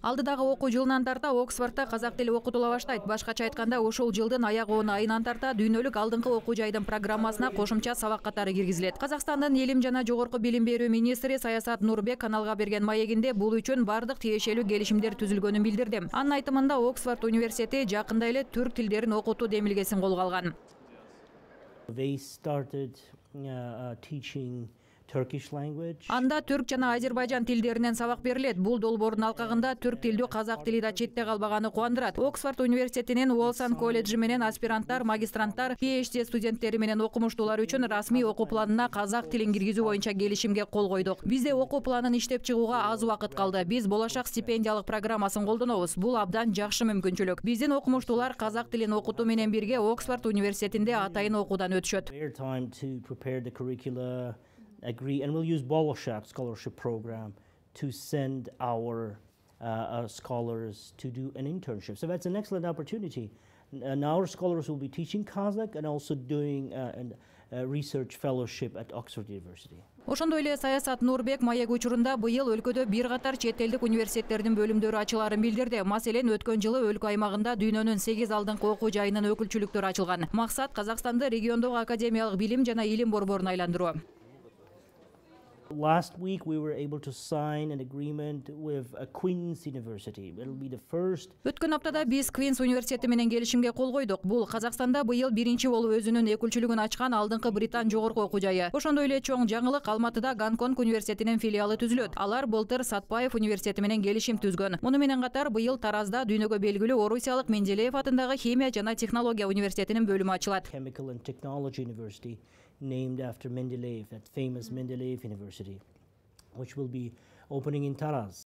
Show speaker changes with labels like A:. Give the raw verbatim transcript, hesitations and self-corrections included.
A: Алдыдагы окуу жылынан тарта Оксфордто казак тили окутула баштайт. Башкача айтканда, ушул жылдын аяк он айынан тарта дүйнөлүк алдыңкы окуу жайдын программасына кошумча сабак катары киргизилет. Казакстандын Элим жана жогорку билим берүү министри Саясат Нурбек каналга берген маегинде бул үчүн бардык тиешелүү келишимдер түзүлгөнүн билдирди. Анын айтымында Оксфорд университети жакында эле түрк тилдерин окутуу демилгесин колго алган.
B: They started uh, teaching Turkish language.
A: Анда түрк жана Азербайжан тилдеринен сабак берилет. Бул долбоордун алкагында түрк тилдүү казак тили да четте калбаганы кубандырат. Оксфорд университетинин Уолсан колледжи менен аспиранттар, магистранттар, пи эйч ди студенттери менен окумуштуулар үчүн расмий окуу планына казак тилин киргизүү боюнча келишимге кол койдук. Бизде окуу планын иштеп чыгууга аз убакыт калды. Биз болашак стипендиялык программасын колдонобуз. Бул абдан жакшы мүмкүнчүлүк. Биздин окумуштуулар казак тилин окутуу менен бирге Оксфорд университетинде атайын окуудан өтүшөт.
B: Agree, and we'll use Bolashak scholarship program to send our uh, uh, scholars to do an internship. So that's an excellent opportunity. And our scholars will be teaching Kazakh and also doing uh, a, a research fellowship at Oxford University.
A: Ошондой эле Саясат Нурбек маек учурунда быйыл өлкөдө бир катар чет элдик университеттердин бөлүмдөрү ачыларын билдирди. Маселен, өткөн жылы өлкө аймагында дүйнөнүн сегиз алдыңкы окуу жайынын өкүлчүлүктөрү ачылган. Максат Казакстанды региондогу академиялык билим жана илим борборуна айландыруу.
B: Last week we were able to sign an agreement with a Queen's University. It'll be the first.
A: Өткөн аптада биз Queen's университети менен келишимге кол койдук. Бул Казакстанда быйыл биринчи болуп өзүнүн өкүлчүлүгүн ачкан алдыңкы Британ жогорку окуу жайы. Ошондой эле чоң жаңылык Алматыда Гонконг университетинин филиалы түзүлөт. Алар былтыр Сатпаев университети менен келишим түзгөн. Муну менен катар быйыл Таразда дүйнөгө белгилүү Орусиялык Менделеев атындагы Химия жана технология университетинин бөлүмү ачылат.
B: Chemical and Technology University, named after Mendeleev, that famous Mendeleev University, which will be opening in Taraz.